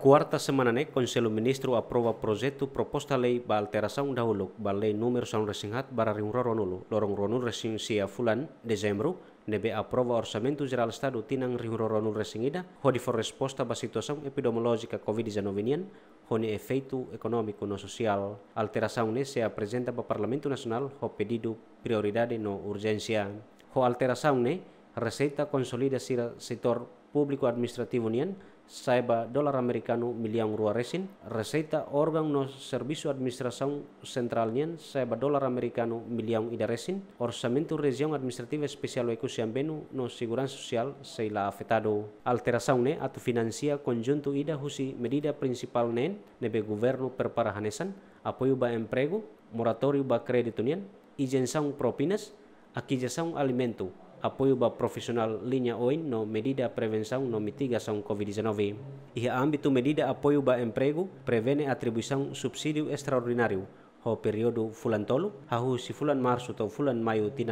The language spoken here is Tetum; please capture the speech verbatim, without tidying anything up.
Kuarta semana ne'e, Konsellu Ministru aprova projetu proposta lei ba alterasaun dahuluk ba lei númeru sanulu-resin-haat barra rihun rua ruanulu, loron ruanulu-resin-sia fulan Dezembru, ne'ebé aprova Orsamentu Jerál Estadu tinan rihun rua ruanulu-resin-ida, hodi fó resposta ba situasaun epidemiolójika covid dezanove nian, ho nia efeitu ekonómiku no sosiál. Alterasaun ne'e sei aprezenta ba Parlamentu Nasionál ho pedidu prioridade no urjénsia. Ho alterasaun ne'e, reseita konsolida sira setór públiku administrativu nian sa'e ba dolar amerikanu millaun rua resin, reseita órgaun no servisu administrasaun sentrál nian sa'e ba dolar amerikanu millaun ida resin, orsamentu Rejiaun Administrativa Espesiál Oekusi Ambenu no Seguransa Sosiál sei la afetadu. Alterasaun ne'e atu finansia konjuntu ida husi medida prinsipál neen ne'ebé governu prepara hanesan apoiu ba empregu, moratóriu ba kréditu nian, izensaun propinas, akizisaun alimentu, apoiu ba profisionál liña oin no medida prevensaun no mitigasaun covid dezanove. Iha ámbitu medida apoiu ba empregu, prevene atribuisaun subsídiu estraordináriu ho períodu fulan tolu, hahú husi fulan Marsu to'o fulan Maiu tinan